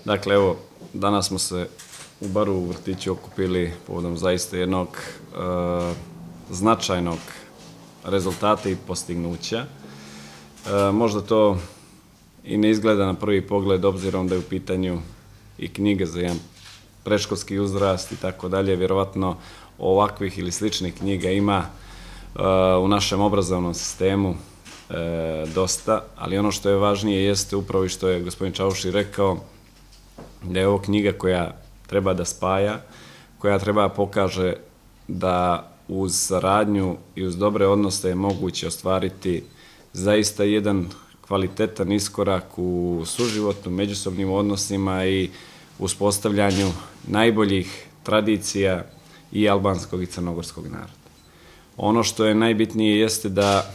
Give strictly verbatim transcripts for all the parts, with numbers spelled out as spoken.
Dakle, evo, danas smo se u baru u vrtiću okupili povodom zaista jednog e, značajnog rezultata i postignuća. E, možda to i ne izgleda na prvi pogled, obzirom da je u pitanju i knjige za jedan predškolski uzrast i tako dalje. Vjerovatno ovakvih ili sličnih knjiga ima e, u našem obrazovnom sistemu e, dosta, ali ono što je važnije jeste upravo i što je gospodin Čauši rekao, da je ovo knjiga koja treba da spaja, koja treba pokaže da uz saradnju i uz dobre odnose je moguće ostvariti zaista jedan kvalitetan iskorak u suživotnu, međusobnim odnosima i uspostavljanju najboljih tradicija i albanskog i crnogorskog naroda. Ono što je najbitnije jeste da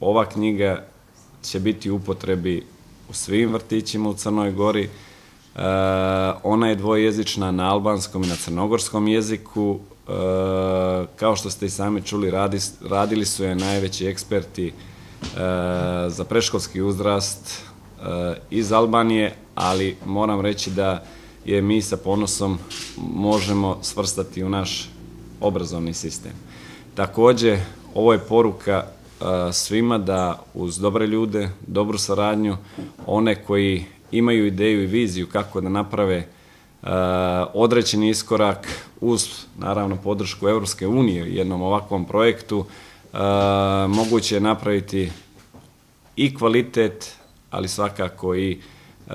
ova knjiga će biti u upotrebi u svim vrtićima u Crnoj Gori. Uh, ona je dvojezična na albanskom i na crnogorskom jeziku. Uh, kao što ste i sami čuli, radi, radili su je najveći eksperti uh, za predškolski uzrast uh, iz Albanije, ali moram reći da je mi sa ponosom možemo svrstati u naš obrazovni sistem. Također, ovo je poruka uh, svima da uz dobre ljude, dobru saradnju, one koji imaju ideju i viziju kako da naprave uh, određeni iskorak uz, naravno, podršku Evropske unije u jednom ovakvom projektu, uh, moguće je napraviti i kvalitet, ali svakako i uh,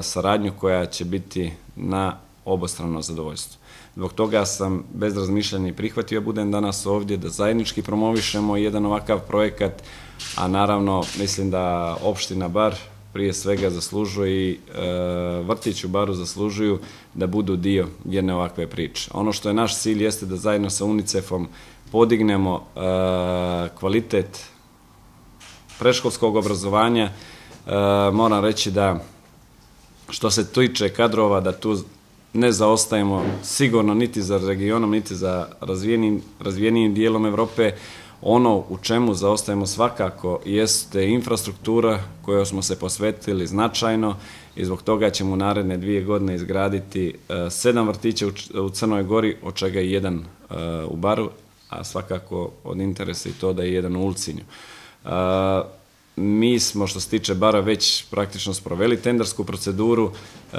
saradnju koja će biti na obostrano zadovoljstvo. Zbog toga sam bez razmišljanja prihvatio budem danas ovdje da zajednički promovišemo jedan ovakav projekat, a naravno mislim da opština Bar prije svega zaslužuje i e, vrtić u Baru zaslužuju da budu dio jedne ovakve priče. Ono što je naš cilj jeste da zajedno sa UNICEF-om podignemo e, kvalitet predškolskog obrazovanja. E, moram reći da što se tiče kadrova, da tu ne zaostajemo sigurno niti za regionom, niti za razvijenim, razvijenijim dijelom Evrope. Ono u čemu zaostajemo svakako jeste infrastruktura kojoj smo se posvetili značajno i zbog toga ćemo u naredne dvije godine izgraditi uh, sedam vrtića u, u Crnoj Gori, od čega je jedan uh, u Baru, a svakako od interesa i to da je jedan u Ulcinju. Uh, mi smo, što se tiče Bara, već praktično sproveli tendersku proceduru. E,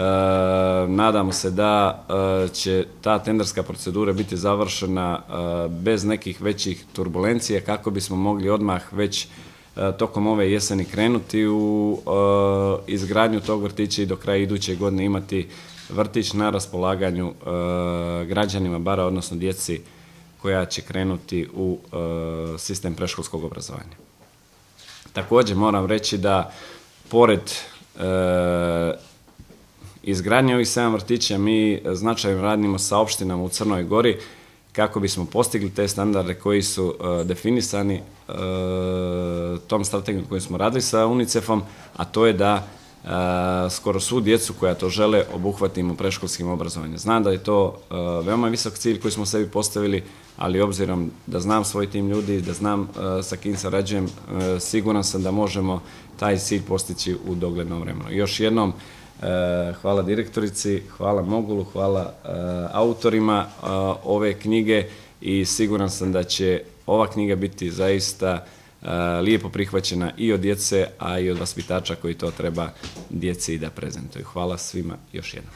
nadamo se da e, će ta tenderska procedura biti završena e, bez nekih većih turbulencija kako bismo mogli odmah već e, tokom ove jeseni krenuti u e, izgradnju tog vrtića i do kraja iduće godine imati vrtić na raspolaganju e, građanima Bara, odnosno djeci koja će krenuti u e, sistem predškolskog obrazovanja. Također moram reći da pored e, izgradnje ovih sedam vrtića mi značajno radimo sa opštinama u Crnoj Gori kako bismo postigli te standarde koji su e, definisani e, tom strategijom koju smo radili sa UNICEF-om, a to je da e, skoro svu djecu koja to žele obuhvatimo predškolskim obrazovanjem. Znam da je to e, veoma visok cilj koji smo sebi postavili, ali obzirom da znam svoj tim ljudi, da znam uh, sa kim sarađujem, uh, siguran sam da možemo taj cilj postići u doglednom vremenu. Još jednom, uh, hvala direktorici, hvala Mogulu, hvala uh, autorima uh, ove knjige i siguran sam da će ova knjiga biti zaista uh, lijepo prihvaćena i od djece, a i od vaspitača koji to treba djeci da prezentuju. Hvala svima još jednom.